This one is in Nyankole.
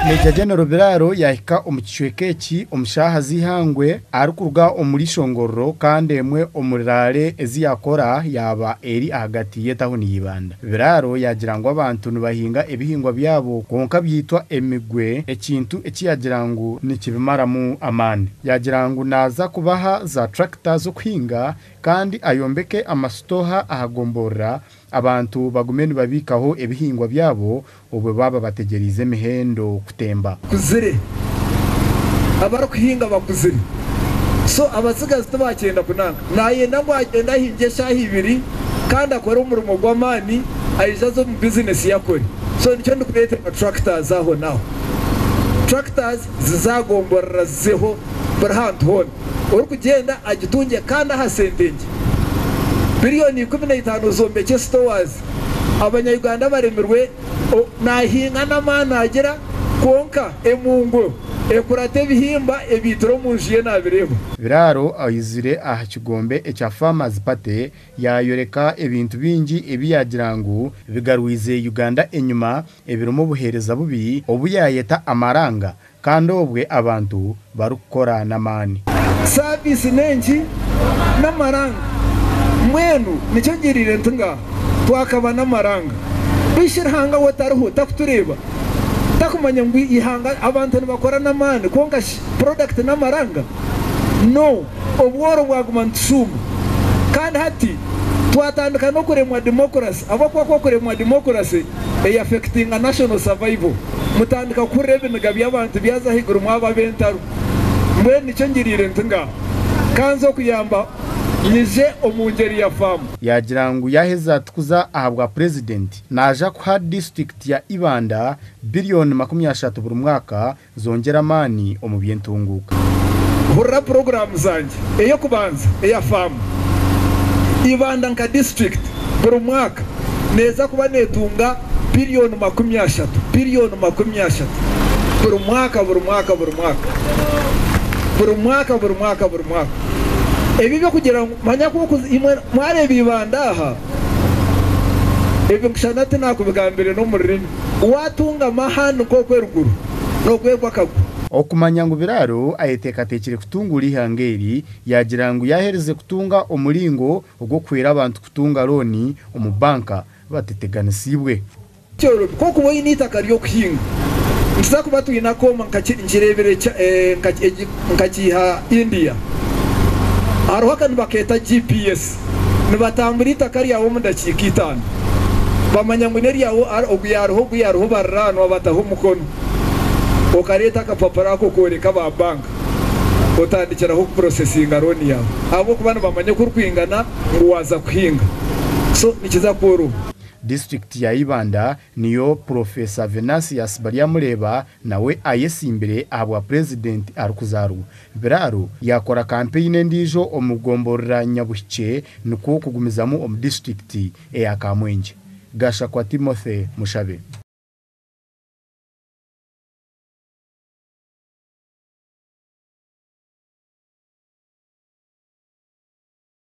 Major General Biraro yaahika omu kicweka eki omu shaaha z'eihangwe arikuruga omuri Ishongororo kandi emwe omuri rally ezi yaakora yaaba eri ahagati y'etahuni ya Ibanda. Biraro yaagira ngu abantu nibahinga ebihingwa byabo kwonka byaitwa emigwe ekintu eki yaagira ngu nikibimaramu amaani. Yaagira ngu naaza kubaha za tractor z'okuhinga kandi ayombeke amasitooha aha gomborora abantu bagume nibabiikaho ebihingwa byabo obwo baaba bategyereize emihendo kutemba. Bakuzire, abarikuhinga bakuzire so abatsigazi tibakyenda kunanka. Nayenda ngu agyende ahingye eshaaha ibiri kandi akore omurimo gw'amaani aije aze omu bizinesi ye akore. So nikyo ndikureetera tractors aho n'aho. Tractors zizagomborora zizeho buri hantu hoona. Orikugyenda agitungye kandi aha sente nkye. Biriyoni 15 zombekye stores. Abanya Uganda baremirwe nahinga n'amaani agira kwonka emungu ekurata ebihimba ebiitire omu nju ye nabireeba. Biraro aizire aha kigombe ekya Farmers Party yaayoreka ebintu bingi ebi yaagira ngu bigarwize Uganda enyima ebirimu obuheereza bubi obu yaayeta amaranga kandi obwe abantu barikukora n'amaani. Saaviisi n'enki? N'amaranga. Mbwenu nikyo ngiriire nti ngaaha twakaba n'amaranga. Bishi Ruhanga we tariho, takutureeba? Takumanya ngu eihanga abantu nibakora n'amaani kwonka shi product n'amaranga? No, obworo bwaguma nitushuuma. Kandi hati twatandika n'okuremwa democracy ahabw'okuba ku okuremwa democracy eyafectinga national survival. Mutandika kuhurira ebiniga by'abantu byaza ahaiguru mwaba ab'entaro. Mbwenu nikyo ngiriire nti ngaaha ka nze okuyamba nyije omu ngyeri ya faamu. Yaagira ngu yaaheza kuza ahabwa Purezidenti, naaja kuha disiturikiti ya Ibanda biriyoni 30 buri mwaka zongyere amaani omu by'entunguuka. Hurira puroguraamu zangye, ey'okubanza eya faamu. Ibanda nka disiturikiti buri mwaka neeza kuba neetunga biriyoni 30, biriyoni 30 buri mwaka, buri mwaka, buri mwaka, buri mwaka, buri mwaka, buri mwaka. Ebi eby'okugira ngu manya ku okuza imwe mwareeba Ibanda aha, ebi nkushana tinaakubigambire n'omu rurimi. Waatunga amahani nk'oku eruguru, noogwegwa akagwa. Okumanya ngu Biraro ayeteekateekire kutunguura eihanga eri, yaagira ngu yaaherize kutunga omuringo ogw'okuhwera abantu kutunga looni omu banka bateteganisiibwe. Kyorobi ku okuba oine eitaka ry'okuhinga. Nituza kuba twine akooma nkireebire nkakiiha India. Hariho aka nibakeeta GPS. Nibatambura eitaka ryawe omu dakiika itaano. Bamanya ngu n'eryawe ogu yaariho ogu yaariho bariraanwa bataho omukono. Okareeta akapapura ako okooreka aba banka otandikiraho kupurosesinga looni yaawe ahabw'okuba nibamanya oku orikwingana ngu waaza kuhinga. So nikiza kworoba. Disiturikiti ya Ibanda niyo Purofeesa Venansius Baryamureeba nawe ayesimbire ahabwa Purezidenti arikuzaarwa. Biraro yaakora kampeyini endiijo omu gomborora Nyabuhikye nikwo kugumizamu omu disiturikiti eya Kamwengye. Gashakwa Timothy Mushabe.